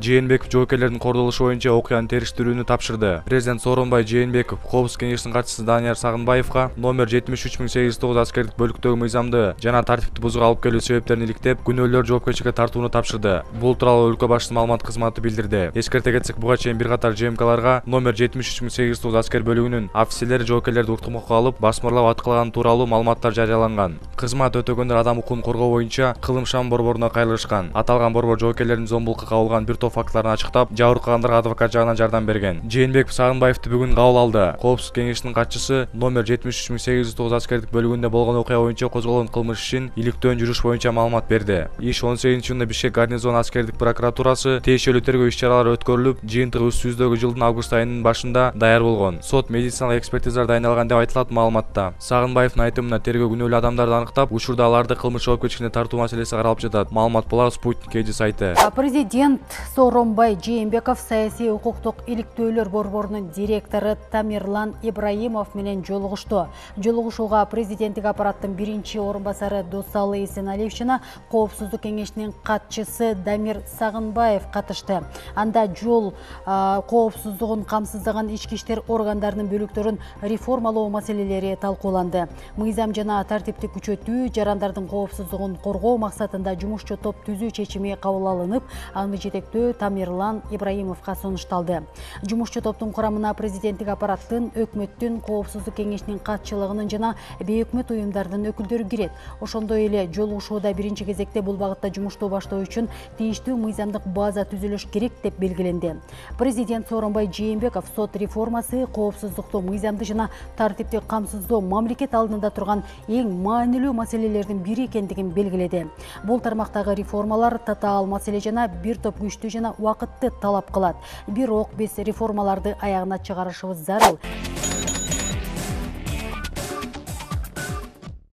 Жээнбеков жоокерлердин кордолушу боюнча окуянын териштирүүнү тапшырды. Президент Сооронбай Жээнбеков Коопсуздук кеңешинин катчысы Данияр Сагынбаевга номер 733809 аскердик бөлүктөгү мыйзамды жана тартипти бузууга алып келүү себептерин иликтеп, күнөөлөр жоопкерчиликке тартууну тапшырды. Бул тууралуу өлкө башчысынын маалымат кызматы билдирди. Эскерте кетсек, буга чейин бир катар ЖМКларга номер 73809 аскер бөлүгүнүн офицерлери жоокерлерди уктурмакка алып, басмырлап аткылаганы тууралуу маалыматтар жарыяланган. Кызмат өтөгөндөр адам укугун коргоо боюнча кылым шам борборуна кайрылышкан. Аталган борбор жоокерлердин зомбулукка кабылган бир топ фактыларын ачыктап, жабыркагандарга адвокат жагынан жардам берген. Жээнбеков Сагынбаевди бүгүн кабыл алды. Коопсуздук кеңешинин катчысы номер 73809 аскердик бөлүгүндө болгон окуя боюнча козголгон кылмыш ишин иликтөөн жүрүш боюнча маалымат берди. Иш 18-июнда Бишкек гарнизон аскердик прокуратурасы тиешелүү тергөө иш-чаралары өткөрүлүп, жыйынтыгы 300-дөгү жылдын август айынын башында даяр болгон. Сот медициналык экспертизалар дайындалган деп айтылат маалыматта. Сагынбаевдин айтымына тергөө күнөөлүү адамдарды аныктап, учурда аларды кылмыш жоопкерчилигине тартуу маселеси каралып жатат. Маалымат болар Спутник эжи сайты. Президент Сооронбай Жээнбеков саясий укуктук иликтөөлөр борборунун директору Тамирлан Ибраимов менен жолугушту. Жолугушууга президенттик аппараттын биринчи орун басары Досалы Эсеналиев жана Коопсуздук кеңешинин катчысы Дамир Сагынбаев катышты. Анда жол коопсуздугун камсыздаган ички иштер органдарынын бөлүктөрүн реформалоо маселелери талкууланды. Мыйзам жана тартипти күчөтүү, жарандардын коопсуздугун коргоо максатында жумушчу топ түзүү чечими кабыл алынып, аны жетектөө Тамирлан Ибраимовго сунушталды. Жумушчу топтун курамына президенттик аппараттын, өкмөттүн, Коопсуздук кеңешинин катчылыгынын жана бейөкмөт уюмдардын өкүлдөрү кирет. Ошондой эле жолугушууда биринчи кезекте бул багытта жумушту баштоо үчүн тийиштүү мыйзамдык база түзүлүш керек деп белгиленди. Президент Сооронбай Жээнбеков сот реформасы коопсуздукту, мыйзамды жана тартипти камсыздоо мамлекет алдында турган эң маанилүү маселелердин бири экендигин белгиледи. Бул тармактагы реформалар татаал маселе жана бир топ күчтүү жана убакытты талап кылат. Бирок биз реформаларды аягына чыгарышыбыз зарыл.